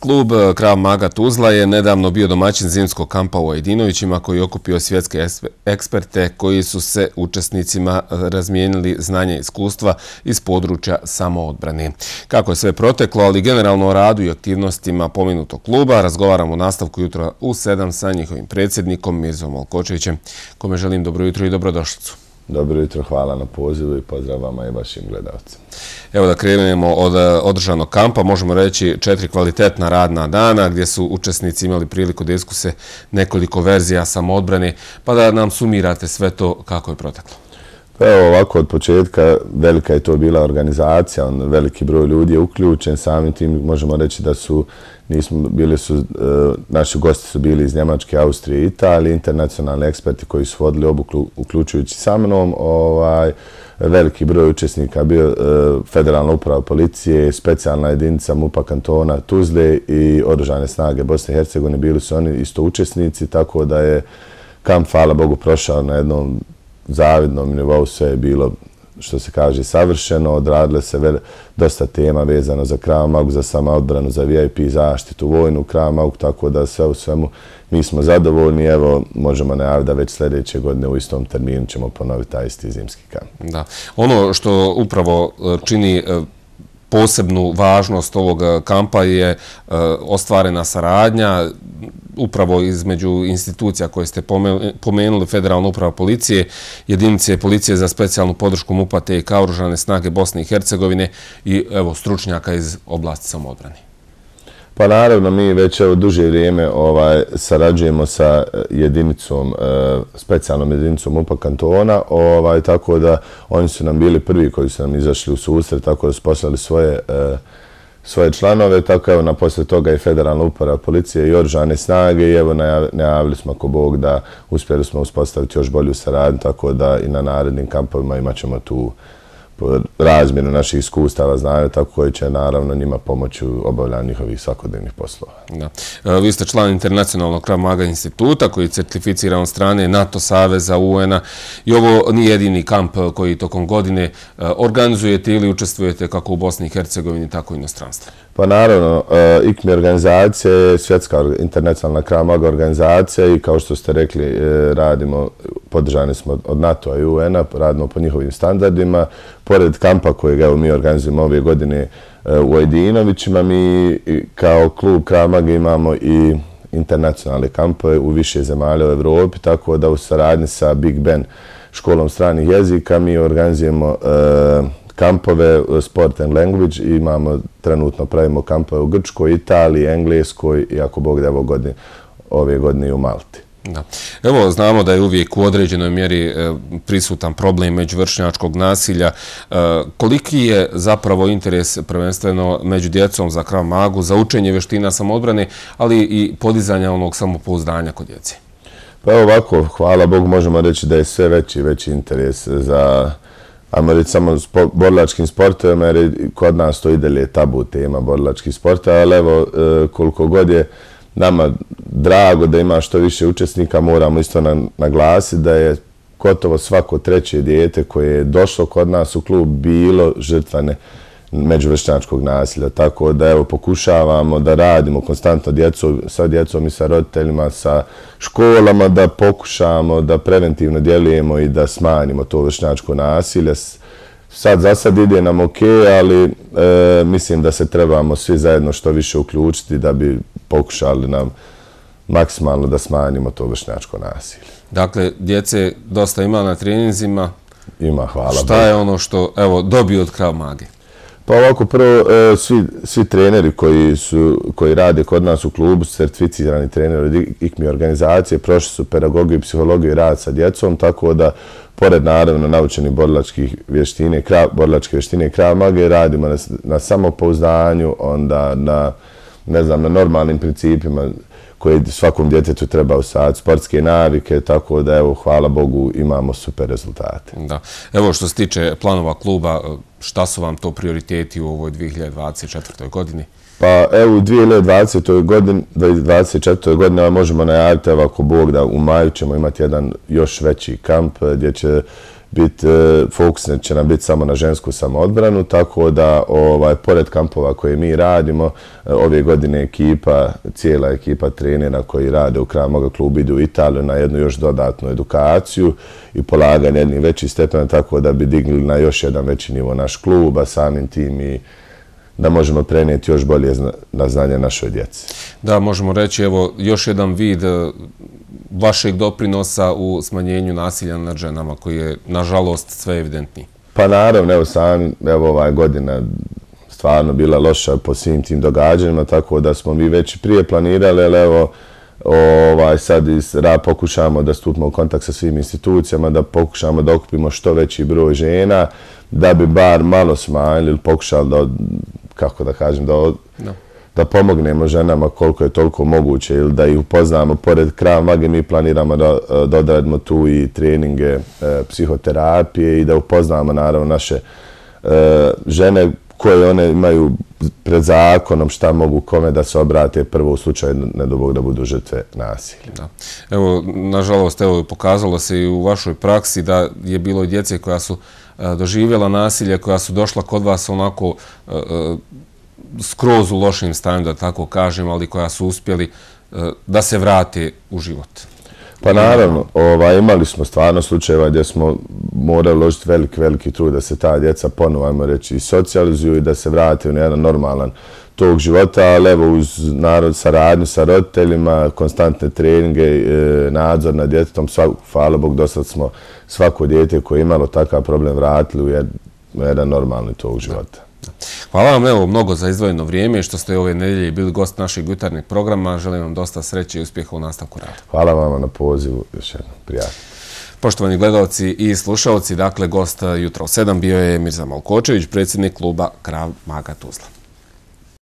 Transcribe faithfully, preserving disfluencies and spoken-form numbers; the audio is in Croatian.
Klub Krav Maga Tuzla je nedavno bio domaćin zimskog kampa u Ajdinovićima koji je okupio svjetske eksperte koji su se učesnicima razmijenili znanja i iskustva iz područja samoodbrane. Kako je sve proteklo, ali generalno o radu i aktivnostima pomenutog kluba, razgovaramo u nastavku jutra u sedam sa njihovim predsjednikom Mirzom Olkočevićem, kome želim dobro jutro i dobrodošlicu. Dobro jutro, hvala na pozivu i pozdrav vama i vašim gledalcima. Evo da krenemo od održanog kampa, možemo reći četiri kvalitetna radna dana gdje su učesnici imali priliku da iskuse nekoliko verzija samoodbrane, pa da nam sumirate sve to kako je proteklo. Pa evo ovako, od početka velika je to bila organizacija, on, veliki broj ljudi je uključen, samim tim možemo reći da su, nismo, bili su, e, naši gosti su bili iz Njemačke, Austrije i Italije, internacionalni eksperti koji su vodili obuku uključujući sa mnom, ovaj, veliki broj učesnika bio e, Federalna uprava policije, specijalna jedinica MUP-a kantona Tuzle i Oružane snage Bosne i Hercegovine, bili su oni isto učesnici, tako da je kamp, hvala Bogu, prošao na jednom zavidnom nivou, sve je bilo, što se kaže, savršeno, odradile se vel, dosta tema vezano za Krav Magu, za samoodbranu, za V I P zaštitu, vojnu Krav Magu, tako da sve u svemu mi smo zadovoljni. Evo, možemo najaviti da već sljedeće godine u istom terminu ćemo ponoviti taj isti zimski kamp. Da. Ono što upravo čini posebnu važnost ovog kampa je ostvarena saradnja upravo između institucija koje ste pomenuli, Federalna uprava policije, jedinice policije za specijalnu podršku MUP-a te i Oružane snage Bosne i Hercegovine i evo stručnjaka iz oblasti samoodbrane. Pa naravno, mi već evo duže vrijeme ovaj, sarađujemo sa jedinicom, e, specijalnom jedinicom MUP-a kantona, ovaj, tako da oni su nam bili prvi koji su nam izašli u susret, tako da su poslali svoje, e, svoje članove, tako evo na poslije toga i Federalna uprava policije i Oružane snage i evo najavili smo ako Bog da uspjeli smo uspostaviti još bolju saradnju, tako da i na narednim kampovima imat ćemo tu razmjenu naših iskustava, znanja, tako koji će naravno njima pomoći u obavljanju njihovih svakodnevnih poslova. Da. Vi ste član Internacionalnog Krav Maga instituta koji je certificiran od strane NATO saveza, U N-a i ovo nije jedini kamp koji tokom godine organizujete ili učestvujete kako u Bosni i Hercegovini, tako i inostranstvu. Pa naravno, I K M I organizacija je svjetska internacionalna Krav Maga organizacija i kao što ste rekli, radimo, podržani smo od NATO-a i U N-a, radimo po njihovim standardima. Pored kampa kojeg evo, mi organizujemo ove godine u Ajdinovićima, mi kao klub Krav Maga imamo i internacionalne kampove u više zemalja u Evropi, tako da u saradnji sa Big Ben školom stranih jezika mi organizujemo e, kampove Sport and Language i imamo, trenutno pravimo kampove u Grčkoj, Italiji, Engleskoj i ako Bog da evo godine, ove godine i u Malti. Da. Evo, znamo da je uvijek u određenoj mjeri e, prisutan problem međuvršnjačkog nasilja. E, koliki je zapravo interes prvenstveno među djecom za Krav Magu, za učenje vještina samoodbrane, ali i podizanja onog samopouzdanja kod djece? Pa evo ovako, hvala Bogu, možemo reći da je sve veći veći interes za ajmo reći samo spo, borilačkim sportovima, jer kod nas to i dalje tabu tema borilačkih sportova, ali evo koliko god je nama drago da ima što više učesnika, moramo isto naglasiti da je gotovo svako treće dijete koje je došlo kod nas u klub bilo žrtvane međuvršnjačkog nasilja. Tako da evo pokušavamo da radimo konstantno djecu, sa djecom i sa roditeljima, sa školama, da pokušamo da preventivno djelujemo i da smanjimo to vršnjačko nasilje. Sad za sad ide nam ok, ali e, mislim da se trebamo svi zajedno što više uključiti da bi pokušali nam maksimalno da smanjimo to vršnjačko nasilje. Dakle, djece dosta ima na treninzima. Ima, hvala. Šta je ono što evo dobiju od Krav Mage? Pa ovako, prvo, e, svi, svi treneri koji, su, koji rade kod nas u klubu su certificirani treneri od I K M I organizacije, prošli su pedagogiju, psihologiju i rad sa djecom, tako da pored naravno naučenih borilačkih vještine, borilačke vještine Krav Mage, radimo na, na samopouzdanju, onda na, ne znam, na normalnim principima koje svakom djetetu treba usaditi, sportske navike, tako da evo, hvala Bogu, imamo super rezultate. Da. Evo što se tiče planova kluba, šta su vam to prioriteti u ovoj dvije hiljade dvadeset četvrtoj godini? Pa evo u dvije hiljade dvadesetoj godini, dvadeset četvrtoj godini možemo najaviti, evo ako Bog da u maju ćemo imati jedan još veći kamp gdje će biti, fokus će nam biti samo na žensku samoodbranu, tako da ovaj, pored kampova koje mi radimo, ove godine ekipa, cijela ekipa trenera koji rade u Krav Maga klubu idu u Italiju na jednu još dodatnu edukaciju i polaganje jednih većih stepena, tako da bi digli na još jedan veći nivo naš klub, a samim tim i da možemo prenijeti još bolje na znanje našoj djeci. Da, možemo reći, evo, još jedan vid vašeg doprinosa u smanjenju nasilja nad ženama, koji je, nažalost, sve evidentniji. Pa naravno, evo sami, evo ova godina stvarno bila loša po svim tim događanjima, tako da smo mi već prije planirali, ali evo, ovaj, sad iz ra pokušamo da stupimo u kontakt sa svim institucijama, da pokušamo da okupimo što veći broj žena, da bi bar malo smanjili, pokušali da, kako da kažem, da, no. da pomognemo ženama koliko je toliko moguće ili da ih upoznamo. Pored Krav Mage mi planiramo da, da odradimo tu i treninge e, psihoterapije i da upoznamo naravno naše e, žene koje one imaju pred zakonom, šta mogu kome da se obrate prvo u slučaju ne do Bog da budu žrtve nasilja. Da. Evo, nažalost, evo, pokazalo se i u vašoj praksi da je bilo i djece koja su a, doživjela nasilje, koja su došla kod vas onako a, a, skroz u lošim stanju, da tako kažem, ali koja su uspjeli a, da se vrate u život. Pa naravno, ovaj, imali smo stvarno slučajeva gdje smo morali uložiti veliki, veliki trud da se ta djeca ponovo, ajmo reći, socijalizuju i da se vrate u jedan normalan tog života, ali evo uz narod, saradnju sa roditeljima, konstantne treninge, nadzor nad djetetom, hvala Bog, do sad smo svako dijete koje je imalo takav problem vratili u jedan normalni tog života. Hvala vam evo mnogo za izdvojeno vrijeme što ste ove nedjelje bili gost našeg jutarnjeg programa. Želim vam dosta sreće i uspjeha u nastavku rada. Hvala vam na pozivu. Još jednom. Prijatno. Poštovani gledalci i slušalci, dakle, gost jutra u sedam bio je Mirza Malkočević, predsjednik kluba Krav Maga Tuzla.